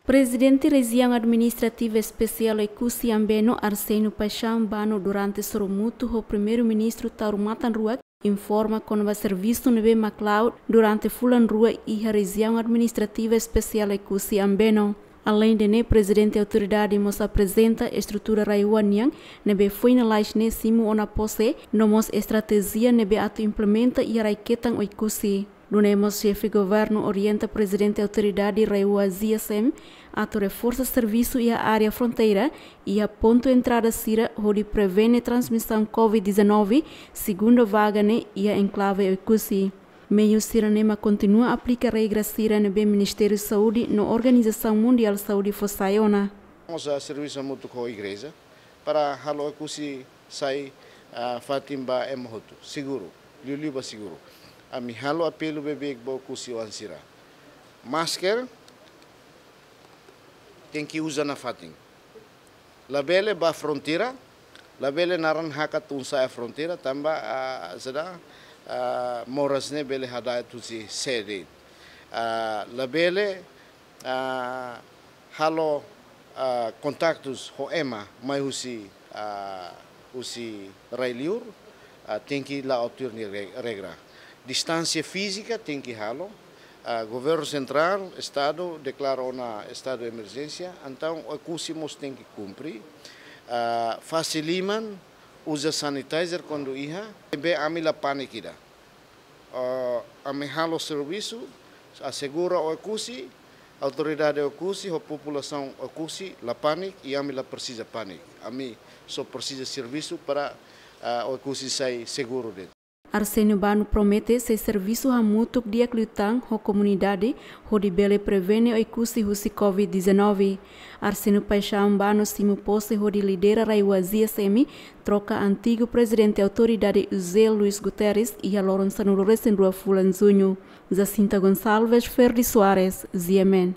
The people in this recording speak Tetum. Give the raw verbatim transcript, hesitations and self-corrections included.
Prezidente Rejiaun Administrativa Espesiál Oekusi Ambeno, Arsénio Paixão Bano, durante sorumutu ho Primeiru-Ministru Taur Matan Ruak, informa kona-ba servisu ne'ebé mak la'o durante fulan rua iha Rejiaun Administrativa Espesiál Oekusi Ambeno. Aleinde ne'e, Prezidente Autoridade mós aprezenta estrutura rai-oan nian ne'ebé foin lalais ne'e simu ona pose, no mós estratéjia ne'ebé atu implementa iha rai-ketan Oekusi. Nune'e mós Xefe Governu orienta Prezidente Autoridade Rai-Oan G S M atu reforsa servisu iha área fronteira, iha pontu entrada sira hodi prevene transmisaun covid dezanove, segunda vaga ne'e iha enklave Oekusi. Meiu sira-ne'e mak kontinua aplika regra sira ne'ebé Ministériu Saúde no Organizasaun Mundiál Saúde fó sai ona. Mós servisu hamutuk ho igreja para halo Oekusi sai, ah, fatin ba ema hotu, seguru, liuliu ba seguru. Ami halo apelu beibeik ba Oekusi-oan sira. Masker tenke uza nafatin. Labele ba fronteira, labele naran hakat tun sa'e fronteira, tanba, ah, saida, ah, moras ne'e bele hada'et husi sé de'it. Ah, labele, ah, halo, ah, kontaktus ho ema mai husi, ah, husi rai-liur, ah, tenke la'o tuir nia re-, regra. Distánsia fízika tenke halo. Ah, Governu Sentrál, Estadu deklara ona estadu de emerjénsia, entaun Oekusi mós tenke kumpre. Ah, fase liman, uza sanitizer kuandu iha, ne'ebé ami la pániku ida. Ah, ami halo servisu, asegura Oekusi, autoridade Oekusi, ho populasaun Oekusi, la pániku, i ami la presiza pániku. Ami só presiza servisu para, ah, Oekusi sai seguru de'it. Arsénio Bano promete sei servisu hamutuk di'ak liután ho komunidade, hodi bele prevene Oekusi husi covid dezanove. Arsénio Paixão Bano simu pose hodi lidera Rai-Oan G S M, troka antigu Prezidente Autoridade José Luís Guterres, iha loron sanulu-resin-rua fulan Juñu. Jacinta Gonçalves, Ferdi Soares, G M N.